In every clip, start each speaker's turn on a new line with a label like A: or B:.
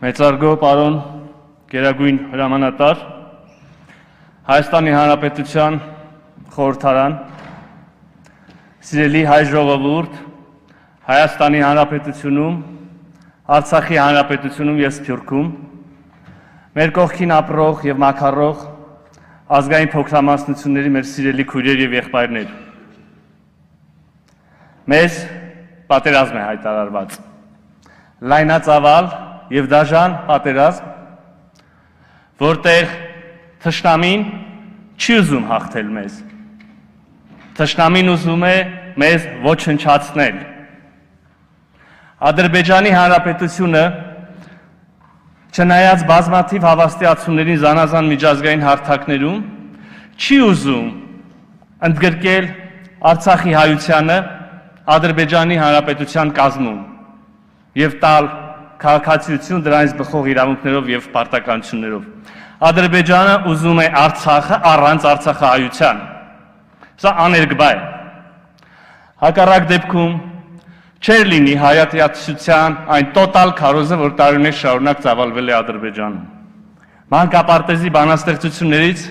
A: Մեծարգո պարոն գերագույն հրամանատար, Հայաստանի Հանրապետության խորհրդարան, սիրելի հայ ժողովուրդ, Հայաստանի Հանրապետությունում, Արցախի Հանրապետությունում և Սփյուռքում, մեր կողքին ապրող և մաքարող ազգային փոքրամասնությունների մեր սիրելի քույրեր և եղբայրներ։ Մեզ պատերազմ է հայտարարված, լայնածավալ և դաժան պատերազմ, որտեղ թշնամին չի ուզում հաղթել մեզ, թշնամին ուզում է մեզ ոչնչացնել։ Ադրբեջանի Հանրապետությունը, չնայած բազմաթիվ հավաստիացումներին զանազան միջազգային հարթակներում, չի ուզում ընդգրկել Արցախի հայությանը Ադրբեջանի Հանրապետության կազմում և տալ քաղաքացիություն դրանից բխող իրավունքներով և պարտականություններով։ Ադրբեջանը ուզում է Արցախը առանց արցախահայության։ Սա աներկբա է։ Հակառակ դեպքում չէր լինի հայատյացության այն տոտալ քարոզը, որ տարիներ շարունակ ծավալվել է Ադրբեջանում։ Մանկապարտեզի բանաստեղծություններից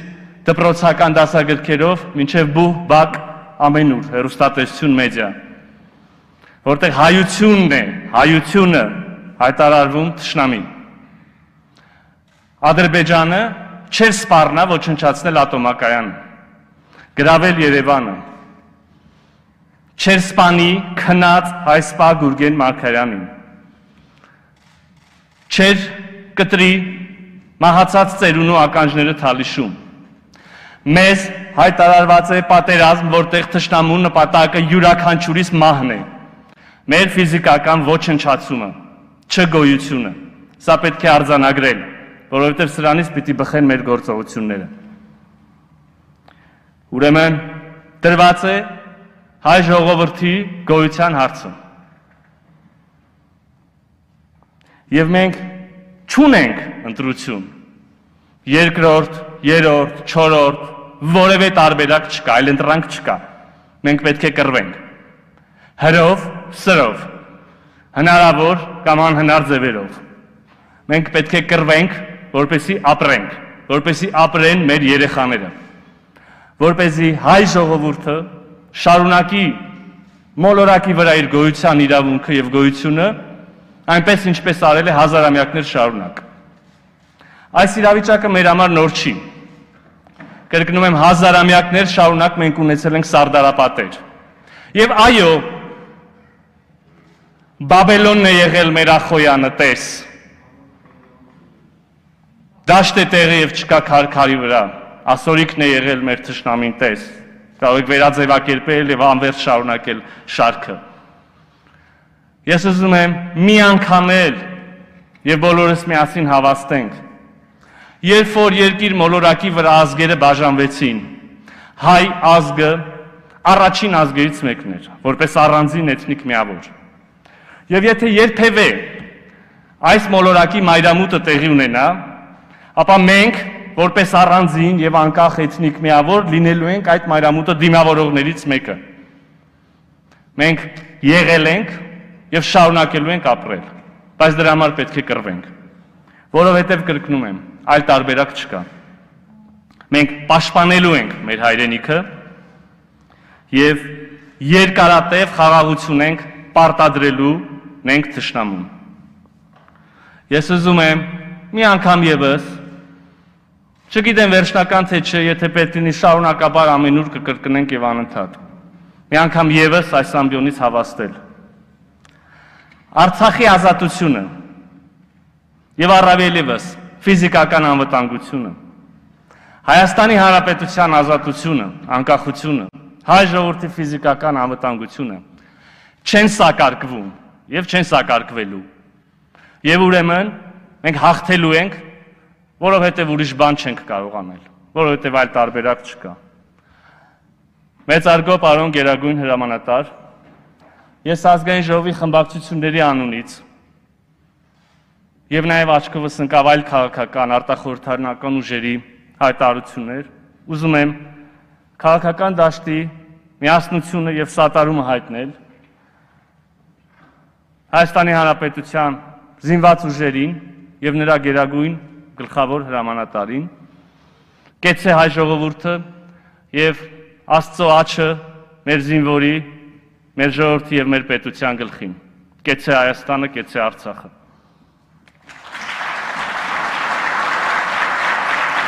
A: դպրոցական դասագրքերով մինչև բուհ բակ ամենուր հեռուստատեսություն մեդիա, որտեղ հայությունն է, հայությունը հայտարարվում թշնամին։ Ադրբեջանը չէր սպառնա ոչնչացնել ատոմակայանը, գրավել Երևանը, չէր սպանի քնած հայ-սպա Գուրգեն Մարգարյանին, չէր կտրի մահացած ծերունու ականջները թալիշում։ Մեզ հայտարարված է պատերազմ, որտեղ թշնամու նպատակը յուրաքանչյուրիս մահն է, մեր ֆիզիկական ոչնչացումը, չգոյությունը։ Սա պետք է արձանագրել, որովհետև սրանից պիտի բխեն մեր գործողությունները։ Ուրեմն դրված է հայ ժողովրդի գոյության հարցը։ Եվ մենք չունենք ընտրություն, երկրորդ, երրորդ, չորրորդ, որևէ տարբերակ չկա, այլ ընտրանք չկա։ Մենք պետք է կռվենք։ Հրով, սրով, հնարավոր կամ անհնար ձևերով։ Մենք պետք է կռվենք, որպեսզի ապրենք, որպեսզի ապրեն մեր երեխաները, որպեսզի հայ ժողովուրդը շարունակի մոլորակի վրա իր գոյության իրավունքը և գոյությունը, այնպես ինչպես արել է հազարամյակներ շարունակ։ Այս իրավիճակը մեր համար նոր չի։ Կրկնում եմ, հազարամյակներ շարունակ մենք ունեցել ենք սարդարապատեր։ Եվ այո, Բաբելոնն է եղել մեր Ախոյանը, տես։ Դաշտ է տեղի և չկա քարի վրա, ասորիքն է եղել մեր թշնամին, տես։ Կարող եք վերաձևակերպել և անվերջ շարունակել շարքը։ Ես ուզում եմ մի անգամ էլ և բոլորս միասին հավաստենք, երբ որ երկիր մոլորակի վրա ազգերը բաժանվեցին, հայ ազգը առաջին ազգերից մեկն էր, որպես առանձին էթնիկ միավոր։ Եվ եթե երբևէ այս մոլորակի մայրամուտը տեղի ունենա, ապա մենք, որպես առանձին և անկախ էթնիկ միավոր, լինելու ենք այդ մայրամուտը դիմավորողներից մեկը։ Մենք եղել ենք և շարունակելու ենք ապրել, բայց դրա համար պետք է կռվենք, որովհետև կրկնում եմ, այլ տարբերակ չկա։ Մենք պաշտպանելու ենք մեր հայրենիքը և երկարատև խաղաղություն ենք պարտադրելու մենք թշնամուն։ Ես ուզում եմ մի անգամ ևս, չգիտեմ վերջնական թե չէ, եթե պետք լինի շարունակաբար ամենուր կկրկնենք և անընդհատ, մի անգամ ևս այս ամբիոնից հավաստել։ Արցախի ազատությունը և առավել ևս ֆիզիկական անվտանգությունը, Հայաստանի Հանրապետության ազատությունը, անկախությունը, հայ ժողովրդի ֆիզիկական անվտանգությունը չեն սակարկվում և չեն սակարկվելու։ Եվ ուրեմն մենք հաղթելու ենք, որովհետև ուրիշ բան չենք կարող անել, որովհետև այլ տարբերակ չկա։ Մեծարգո պարոն գերագույն հրամանատար, ես ազգային ժողովի խմբակցությունների անունից և նաև աչքովս ընկավ այլ քաղաքական, արտախորհրդարանական ուժերի հայտարարություններ, ուզում եմ քաղաքական դաշտի միասնությունը և սատարումը հայտնել Հայաստանի Հանրապետության զինված ուժերին եւ նրա գերագույն գլխավոր հրամանատարին։ Կեցե հայ ժողովուրդը եւ Աստծո աջը մեր զինվորի, մեր ժողովրդի եւ մեր պետության գլխին։ Կեցե Հայաստանը, կեցե Արցախը։